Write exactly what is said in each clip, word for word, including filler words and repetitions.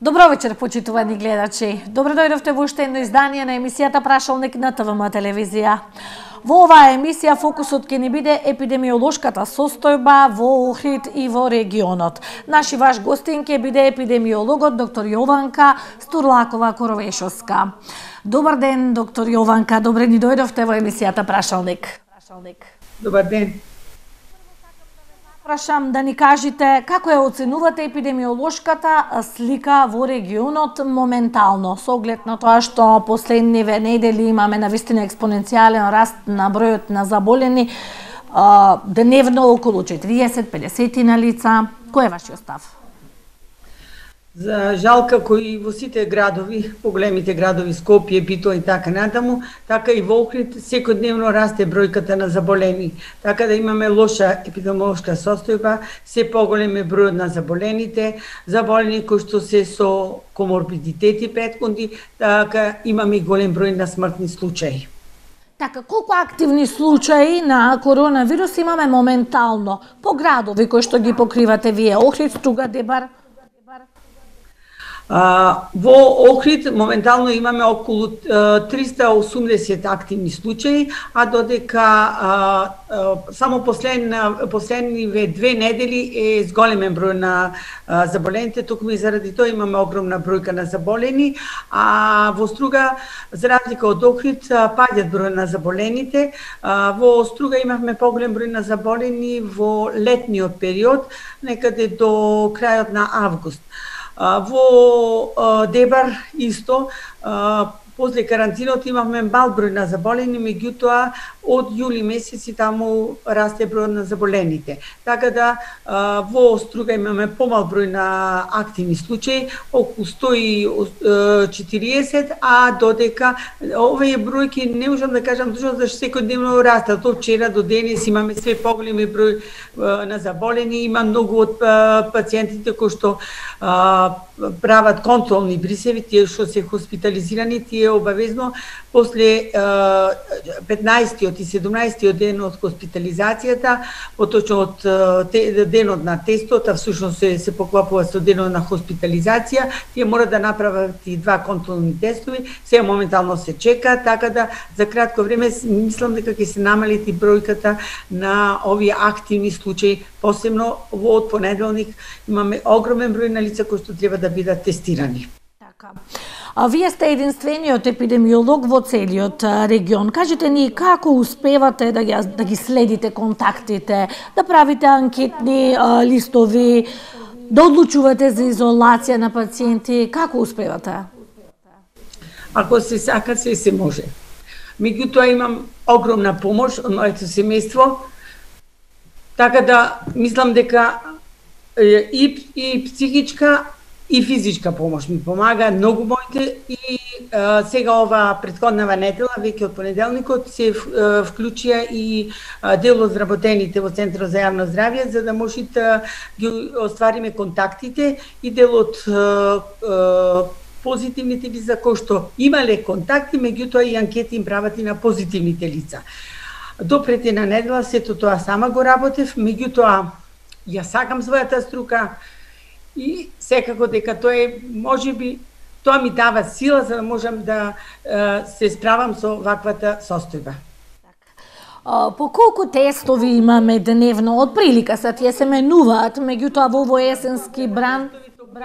Добро вечер, почитувани гледачи. Добро дојдовте во уште едно издание на емисијата Прашалник на ТВМ телевизија. Во оваа емисија фокусот ќе ни биде епидемиолошката состојба во Охрид и во регионот. Наши ваш гостин ќе биде епидемиологот доктор Јованка Стурлакова-Коровешовска. Добар ден, доктор Јованка, добре ни дојдовте во емисијата Прашалник. Добар ден. Прашам да ни кажете како ја оценувате епидемиолошката слика во регионот моментално, со оглед на тоа што последниве недели имаме навистина експоненцијален раст на бројот на заболени, дневно околу четириесет до педесет на лица. Кој е вашиот став? За жал, како и во сите градови, поголемите градови, Скопје, Битола и така натаму, така и во Охрид секојдневно расте бројката на заболени. Така да имаме лоша епидемиолошка состојба, се поголем е бројот на заболените, заболени кои што се со коморбидитети претходни, така имаме и голем број на смртни случаи. Така, колку активни случаи на коронавирус имаме моментално по градови кои што ги покривате вие? Охрид, Струга, Дебар? А, во Охрид моментално имаме околу триста и осумдесет активни случаи, а додека а, а, само последна, последниве две недели е зголемен број на а, заболените, токму и заради тоа имаме огромна бројка на заболени, а во Струга, за разлика од Охрид, паѓат број на заболените. А, во Струга имавме поголем број на заболени во летниот период, некаде до крајот на август. Во Дебар исто, после карантинот имавме мал број на заболени, меѓутоа од јули месец и таму расте бројот на заболените. Така да во Струга имаме помал број на активни случаи, околу сто и четириесет, а додека овие бројки не можам да кажам точно зашто секојдневно растат. Од вчера до денес имаме све поголеми број на заболени, има многу од пациентите кои што прават контролни брисеви, тие што се хоспитализирани, тие обавезно после петнаесеттиот и седумнаесеттиот ден од хоспитализацијата, поточно од денот на тестот, а всушност се, се поклопува со денот на хоспитализација, тие мора да направат и два контролни тестови, сега моментално се чека, така да за кратко време мислам дека ќе се намали и бројката на овие активни случаи, посебно во од понеделник имаме огромен број на лица кои што треба да бидат тестирани. Така. А вие сте единствениот епидемиолог во целиот регион. Кажете ни како успевате да ги, да ги следите контактите, да правите анкетни а, листови, да одлучувате за изолација на пациенти, како успевате? Ако се сака, се се може. Меѓутоа имам огромна помош од моето семејство, така да мислам дека и, и психичка и физичка помош ми помага многу моите и а, сега ова претходнава недела, веќе од понеделникот, се а, вклучија и а, дел од работените во Центарот за јавно здравје, за да може да ги оствариме контактите и дел од а, а, позитивните лица кои што имале контакти, меѓутоа и анкети им прават и на позитивните лица. До претина недела сето тоа сама го работев, меѓутоа ја сакам својата струка и секако дека тоа е, можеби, тоа ми дава сила за да можам да е, се справам со ваквата состојба. По колку тестови имаме дневно? Од прилика се тие се менуваат, меѓутоа во овој есенски бран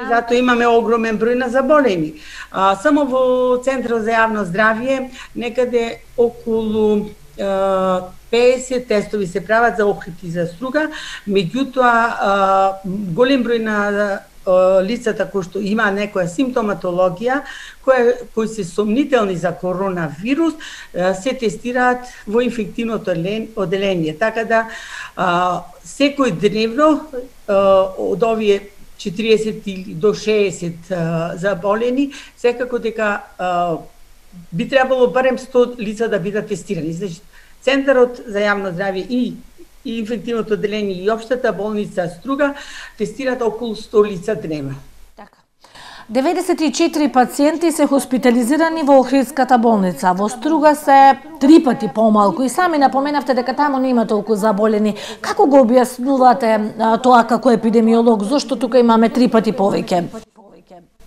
Затоа имаме огромен број на заболени. А, само во Центарот за јавно здравје некаде околу педесет тестови се прават за Охрид и за Струга, меѓутоа голем број на лицата кои што има некоја симптоматологија, кои, кои се сомнителни за коронавирус, се тестираат во инфективното оделение. Така да секој дневно од овие четириесет до шеесет заболени, секако дека би требало барем сто лица да бидат тестирани. Значи, Центарот за јавно здравје и, и инфективното оделение и општата болница Струга тестираат околу сто лица дневно. Така. деветдесет и четири пациенти се хоспитализирани во Охридската болница. Во Струга се три пати помалку и сами напоменавте дека таму нема толку заболени. Како го објаснувате тоа како епидемиолог? Зошто тука имаме три пати повеќе?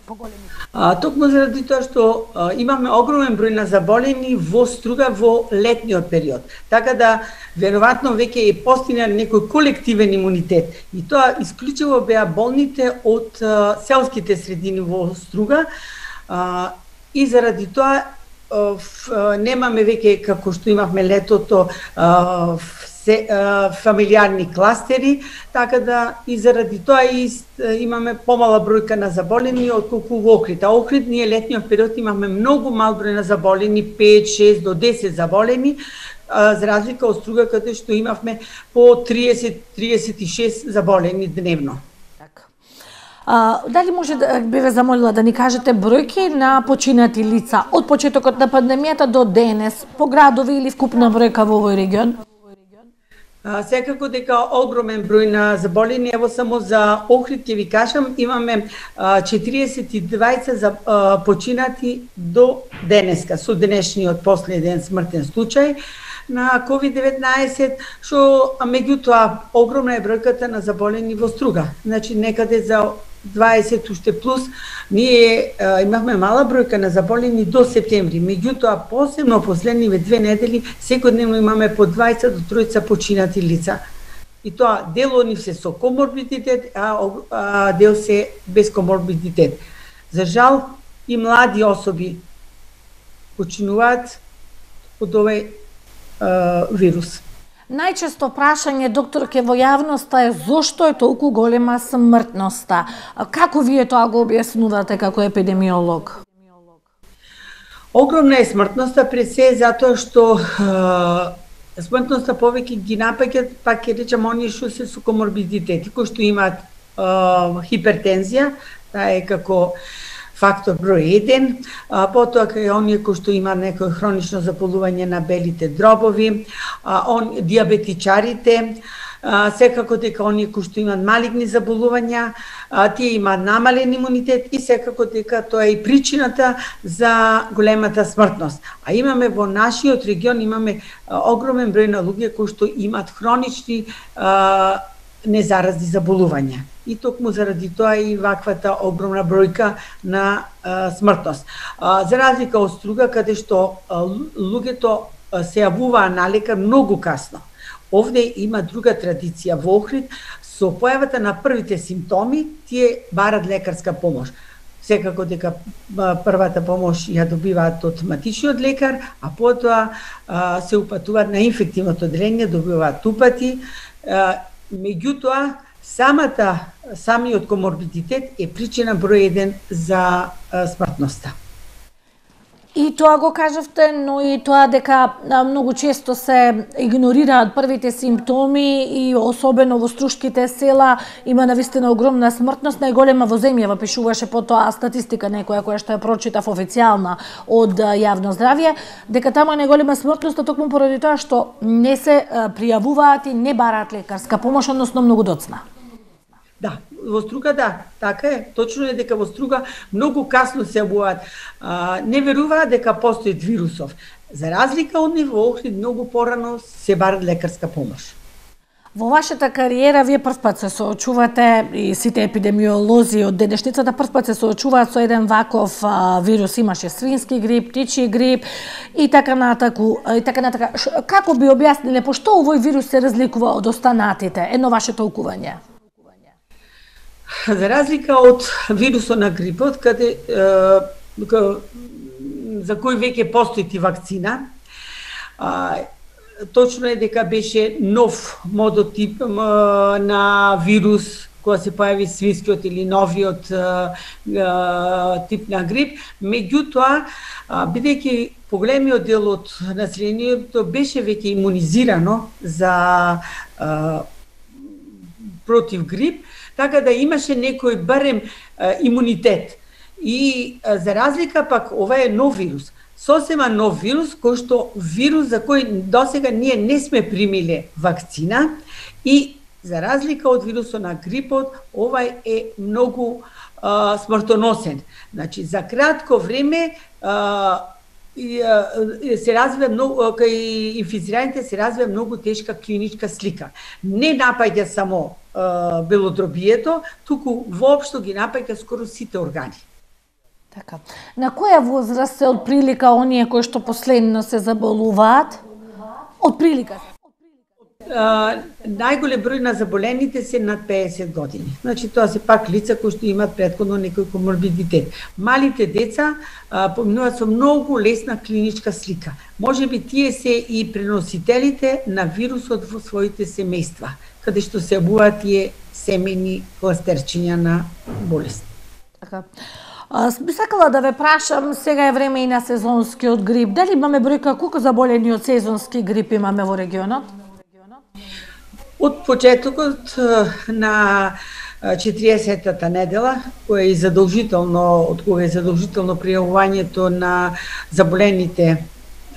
поголеми? А, токму заради тоа што а, имаме огромен број на заболени во Струга во летниот период. Така да веројатно веќе е постигнал некој колективен имунитет. И тоа исклучиво беа болните од а, селските средини во Струга. А, и заради тоа а, ф, а, немаме веќе како што имавме летото а, се, а, фамилиарни кластери, така да и заради тоа и имаме помала бројка на заболени отколку во Охрид. А Охрид ние летниот период имаме многу мал број на заболени, пет, шест до десет заболени, а, за разлика од Струга каде што имавме по триесет до триесет и шест заболени дневно. А, дали може да би ве замолила да ни кажете бројки на починати лица од почетокот на пандемијата до денес по градови или вкупна бројка во овој регион? А, секако дека огромен број на заболени, ево само за Охрид ќе ви кажам, имаме а, четириесет и двајца за, а, починати до денеска, со денешниот последен смртен случај на ковид деветнаесет, што меѓутоа огромна е бројката на заболени во Струга. Значи некаде за дваесет уште плюс, ние а, имавме мала бројка на заболени до септември. Меѓутоа, посебно последниве две недели, секојдневно имаме по дваесет до тројца починати лица. И тоа дел од нив се со коморбидитет, а, а дел се без коморбидитет. За жал, и млади особи починуваат од овој а, вирус. Најчесто прашање, докторке, во јавноста е зошто е толку голема смртноста. Како вие тоа го објаснувате како епидемиолог? Огромна е смртноста пред се затоа што е, смртноста повеќе ги напаѓаат, пак ќе речам, оние што се со коморбидитети, кои што имаат е, хипертензија, таа е како фактор број еден, а, потоа кај оние кои што има некој хронично заболување на белите дробови, а, он, диабетичарите, а, секако дека оние кои што имаат малигни заболувања, а, тие имаат намален имунитет и секако дека тоа е и причината за големата смртност. А имаме во нашиот регион имаме а, огромен број на луѓе кои што имаат хронични а, незаразни заболувања. И токму заради тоа и ваквата огромна бројка на а, смртност. А, за разлика од Струга, каде што а, луѓето а, се јавуваа на лекар многу касно. Овде има друга традиција во Охрид, со појавата на првите симптоми, тие барат лекарска помош. Секако дека првата помош ја добиваат од матичниот лекар, а потоа а, се упатуваат на инфективното одделение, добиваат упати. А, меѓутоа, самата, самиот коморбидитет е причина број еден за а, смртноста. И тоа го кажавте, но и тоа дека многу често се игнорираат првите симптоми и особено во струшките села има навистина огромна смртност, најголема во земјава, пишуваше потоа статистика некоја која што ја прочитав официјална од јавно здравје, дека таму е најголема смртност, токму поради тоа што не се пријавуваат и не бараат лекарска помош, односно многу доцна. Да, во Струга да, така е. Точно е дека во Струга многу касно се јавуваат. Не веруваат дека постои вирусов. За разлика од нив, во Охрид многу порано се бара лекарска помош. Во вашата кариера вие прв пат се соочувате и сите епидемиолози од денешницата прв пат се соочуваат со еден ваков а, вирус. Имаше свински грип, птичји грип и така натаку, и така натака. Како би објасниле пошто овој вирус се разликува од останатите? Едно ваше толкување. За разлика од вирусот на грипот, каде е, за кој веќе постои вакцина, а, точно е дека беше нов модотип а, на вирус кога се појави свинскиот или новиот а, а, тип на грип, меѓутоа, бидејќи поголемиот дел од населението беше веќе имунизирано за а, против грип, така да имаше некој барем а, имунитет. И а, за разлика пак ова е нов вирус. Сосема нов вирус, кој што вирус за кој досега ние не сме примиле вакцина и за разлика од вирусот на грипот, овај е многу а, смртоносен. Значи, за кратко време а, и, а, се развива многу, кај инфицираните се развива многу тешка клиничка слика. Не напаѓа само а, белодробието, туку воопшто ги напаѓа скоро сите органи. Така. На која возраст се отприлика оние кои што последно се заболуваат? Отприлика. Uh, најголем број на заболените се над педесет години. Значи тоа се пак лица кои што имаат претходно некој коморбидитет. Малите деца uh, поминуваат со многу лесна клиничка слика. Може би тие се и преносителите на вирусот во своите семејства, каде што се обуваат тие семени кластерчиња на болест. Така. Би сакала да ве прашам, сега е време и на сезонскиот грип. Дали имаме бројка колку заболени од сезонски грип имаме во регионот? Од почетокот на четириесеттата недела, која е задолжително, од кога е задолжително пријавувањето на заболените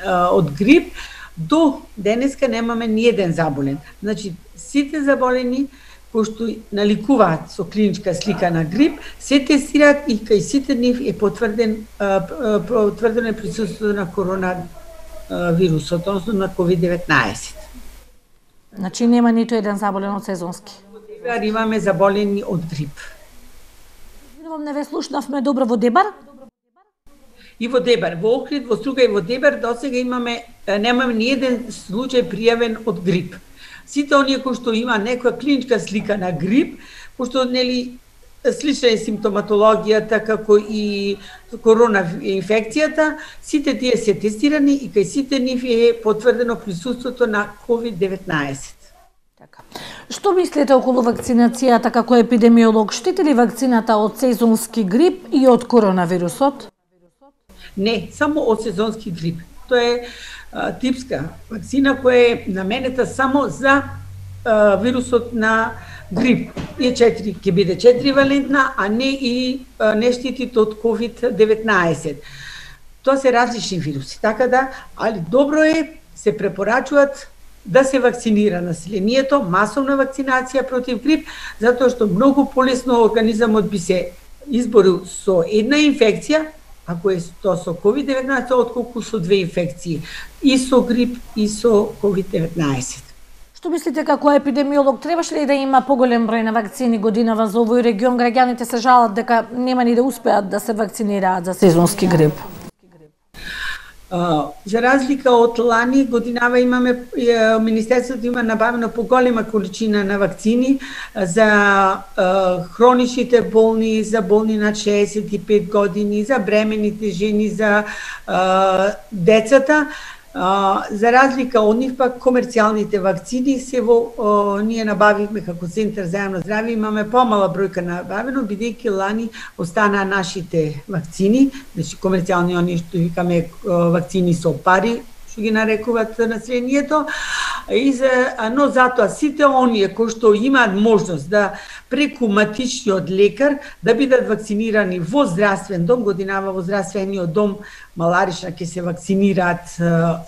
од грип, до денеска немаме ни еден заболен. Значи, сите заболени кои што наликуваат со клиничка слика на грип, се тестираат и кај сите нив е потврден потврдено присуството на коронавирусот, односно на ковид деветнаесет. Значи нема ниту еден заболен од сезонски. Сега имаме заболени од грип. Извинувам, не ве слушнавме добро во Дебар? И во Дебар, во Охрид, во Струга и во Дебар досега имаме немаме ни еден случај пријавен од грип. Сите оние кои што има некоја клиничка слика на грип, пошто нели слична е симптоматологијата како и корона инфекцијата, сите тие се тестирани и кај сите нив е потврдено присуството на ковид деветнаесет. Така. Што мислите околу вакцинацијата како епидемиолог? Штити ли вакцината од сезонски грип и од коронавирусот? Не, само од сезонски грип. Тоа е а, типска вакцина која е наменета само за а, вирусот на грип. Е четири, ќе биде четиривалентна, а не и а, не штитите од ковид деветнаесет. Тоа се различни вируси, така да, али добро е, се препорачуваат да се вакцинира населението, масовна вакцинација против грип, затоа што многу полесно организамот би се изборил со една инфекција, ако е тоа со ковид деветнаесет, отколку со две инфекции, и со грип, и со ковид деветнаесет. Што мислите како епидемиолог, требаше ли да има поголем број на вакцини годинава за овој регион? Граѓаните се жалат дека нема ни да успеат да се вакцинираат за сезонски грип. Uh, за разлика од лани годинава имаме uh, Министерството има набавено поголема количина на вакцини за uh, хроничните болни, за болни над шеесет и пет години, за бремените жени, за uh, децата. Uh, за разлика од нив пак комерцијалните вакцини се во uh, ние набавивме како Центар за јавно здравје, имаме помала бројка набавено, бидејќи лани останаа нашите вакцини, значи комерцијални оние што викаме uh, вакцини со пари, што ги нарекуваат населението, и за, но затоа сите оние кои што имаат можност да преку матичниот лекар да бидат вакцинирани во здравствен дом, годинава во здравствениот дом Маларична ќе се вакцинираат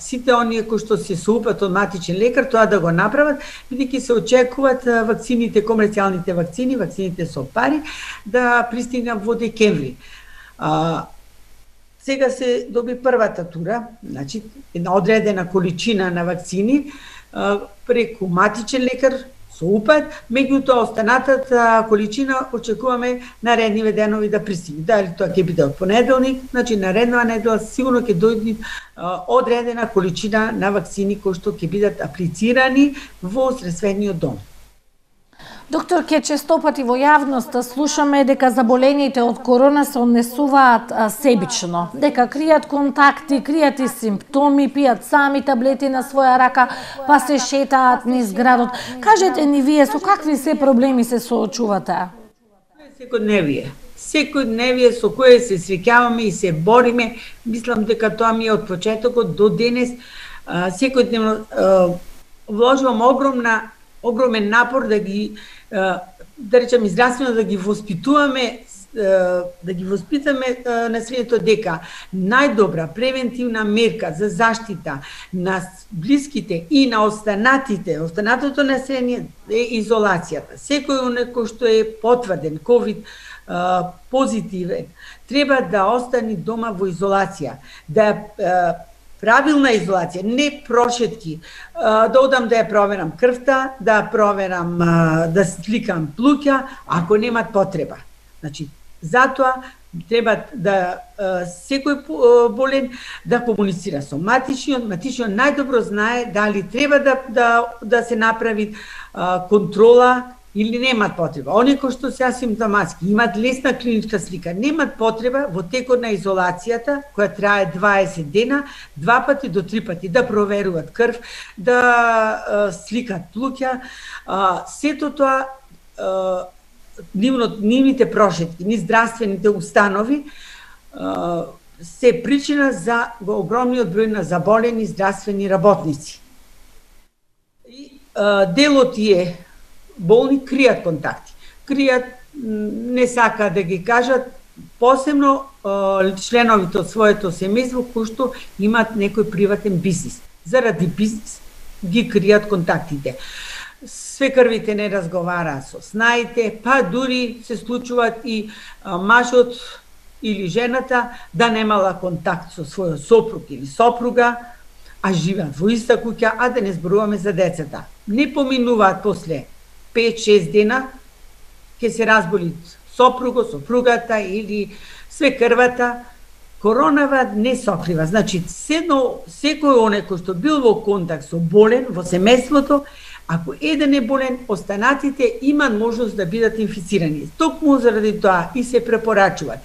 сите оние кои што се соупат од матичен лекар, тоа да го направат, бидејќи се очекуваат вакцините, комерцијалните вакцини, вакцините со пари, да пристигнат во декември. А, сега се доби првата тура, значи една одредена количина на вакцини а, преку матичен лекар со упат, меѓутоа останатата количина очекуваме наредниве денови да пристигне. Дали тоа ќе биде од понеделник, значи нареднава недела сигурно ќе дојде одредена количина на вакцини кои што ќе бидат аплицирани во здравствениот дом. Доктор, ке често пати во јавноста слушаме дека заболените од корона се однесуваат себично, дека кријат контакти, кријат и симптоми, пијат сами таблети на своја рака, па се шетаат низ градот. Кажете ни вие со какви се проблеми се соочувате? Секојдневие. Секојдневие со кое се среќаваме и се бориме. Мислам дека тоа ми е од почетокот до денес. Секојдневно вложувам огромна огромен напор да ги, да речем, здравствено да ги воспитуваме, да ги воспитаме населението дека најдобра превентивна мерка за заштита на блиските и на останатите, останатото население е изолацијата. Секој некој што е потврден ковид позитивен треба да остане дома во изолација, да правилна изолација, не прошетки, да одам да ја проверам крвта, да проверам, да сликам плуќа, ако немат потреба. Значи, затоа треба да секој болен да комуницира со матичниот, матичниот најдобро знае дали треба да да да се направи контрола или немат потреба. Они кои што се асимптоматски, имат лесна клиничка слика, немат потреба во текот на изолацијата, која трае дваесет дена, два пати до три пати да проверуваат крв, да сликат плуќа, сето тоа нивните прошетки, ни здравствените установи се причина за огромниот број на заболени здравствени работници. И дел од тие болни кријат контакти. Кријат, не сакаат да ги кажат, посебно членовите од своето семејство кои што имаат некој приватен бизнис. Заради бизнис ги кријат контактите. Свекрвите не разговараат со снаите, па дури се случуваат и мажот или жената да немала контакт со својот сопруг или сопруга, а живеат во иста куќа, а да не зборуваме за децата. Не поминуваат после пет-шест дена, ќе се разболи сопруго, сопругата или свекрвата. Коронава не сокрива. Значи, седно, секој оне кој што бил во контакт со болен во семејството, ако еден е болен, останатите имаат можност да бидат инфицирани. Токму заради тоа и се препорачуваат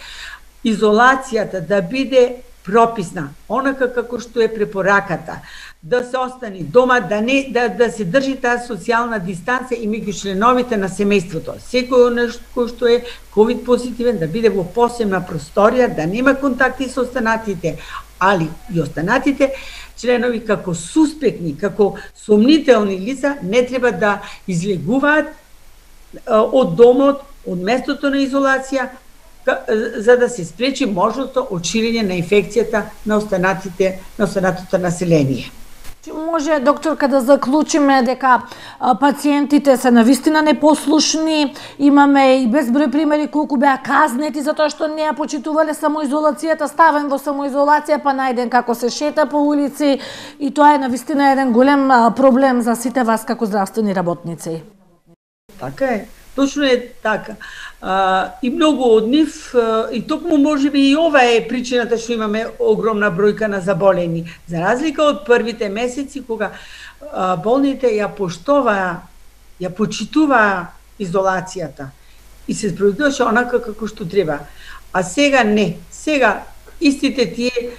изолацијата да биде прописна, онака како што е препораката, да се остани дома, да не да, да се држи таа социјална дистанца и меѓу членовите на семејството. Секој нешто кој што е ковид позитивен да биде во посебна просторија, да нема контакти со останатите, али и останатите членови како суспектни, како сомнителни лица не треба да излегуваат од домот, од местото на изолација, за да се спречи можноста од ширење на инфекцијата на останатите, на останатото население. Може, докторка, да заклучиме дека пациентите се навистина непослушни, имаме и безброј примери колку беа казнети затоа што не ја почитувале самоизолацијата, ставен во самоизолација па најден како се шета по улици, и тоа е навистина еден голем проблем за сите вас како здравствени работници. Така е. Точно е така. А, и многу од нив, и токму можеби и ова е причината што имаме огромна бројка на заболени. За разлика од првите месеци, кога а, болните ја поштоваа, ја почитуваа изолацијата и се спроведуваше онака како што треба. А сега не. Сега истите тие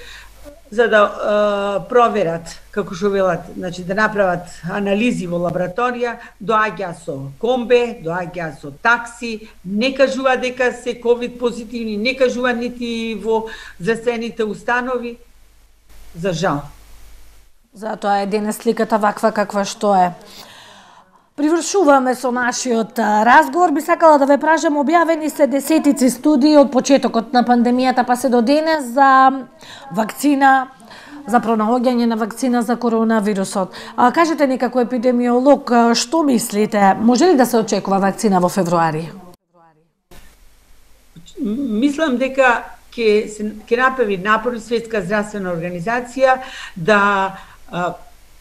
за да а, проверат, како што велат, значи да направат анализи во лабораторија, доаѓа со комбе, доаѓа со такси, не кажува дека се ковид позитивни, не кажува нити во здравствените установи. За жал. Затоа е денес сликата ваква каква што е. Привршуваме со нашиот разговор. Би сакала да ве прашам, објавени се десетици студии од почетокот на пандемијата па се до денес за вакцина, за пронаоѓање на вакцина за коронавирусот. А, кажете ни како епидемиолог, што мислите? Може ли да се очекува вакцина во февруари? Мислам дека ќе се ќе направи напор Светска здравствена организација да а,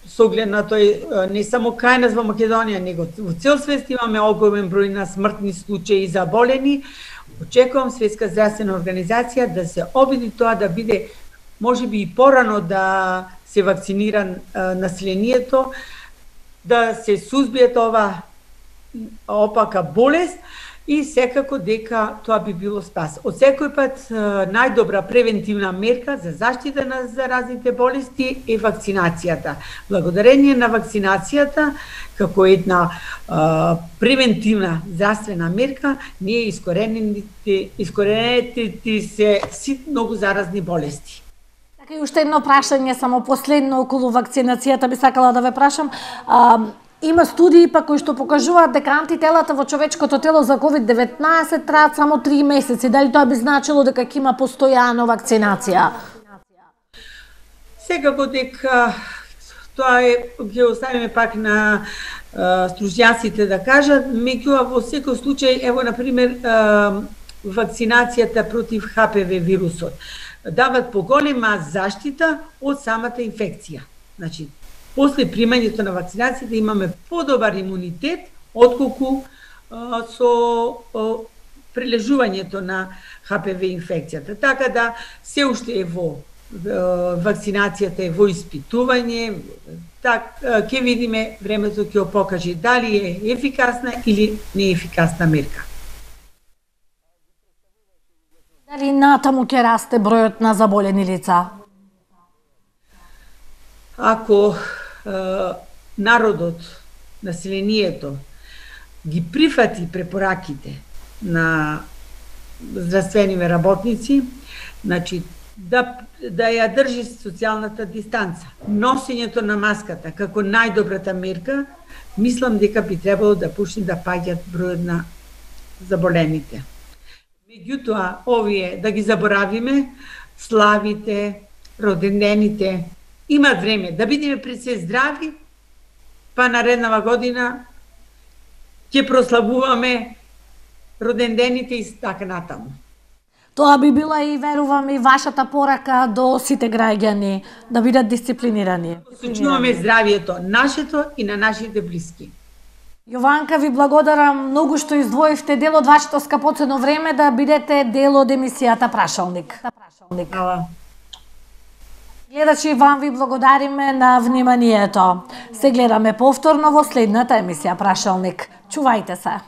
со оглед на тој не само кај нас во Македонија, него во цел свет имаме огромен број на смртни случаи заболени. Очекувам Светска здравствена организација да се обиди тоа да биде можеби и порано да се вакцинира населението, да се сузбие ова опака болест и секако дека тоа би било спас. Од секој пат најдобра превентивна мерка за заштита на заразните болести е вакцинацијата. Благодарение на вакцинацијата, како една а, превентивна здравствена мерка, ние искорените, искорените се сит многу заразни болести. Така и уште едно прашање, само последно околу вакцинацијата би сакала да ве прашам. А, Има студии па кои што покажуваат дека антителата во човечкото тело за ковид деветнаесет траат само три месеци. Дали тоа би значило дека ќе има постојано вакцинација? Секако дека тоа е, ќе оставиме пак на стружњаците да кажат, меѓутоа во секој случај, ево на пример вакцинацијата против Х П В вирусот дават поголема заштита од самата инфекција. Значи, после примањето на вакцинацијата имаме подобар имунитет отколку а, со а, прележувањето на Х П В инфекцијата. Така да се уште е во вакцинацијата е во испитување, так ќе видиме, времето ќе покаже дали е ефикасна или неефикасна мерка. Дали натаму ќе расте бројот на заболени лица? Ако е, народот, населението ги прифати препораките на здравствените работници, значи да да ја држи социјалната дистанца, носењето на маската како најдобрата мерка, мислам дека би требало да почне да паѓат бројот на заболените. Меѓутоа, овие да ги заборавиме, славите, родендените, имат време да бидеме пред се здрави, па нареднава година ќе прославуваме родендените и така натаму. Тоа би била и, верувам, и вашата порака до сите граѓани да бидат дисциплинирани. Сочуваме здравието нашето и на нашите блиски. Јованка, ви благодарам многу што издвоивте дел од вашето скапоцено време да бидете дел од емисијата Прашалник. Хвала. Гледачи, вам ви благодариме на вниманието. Се гледаме повторно во следната емисија Прашалник. Чувајте се.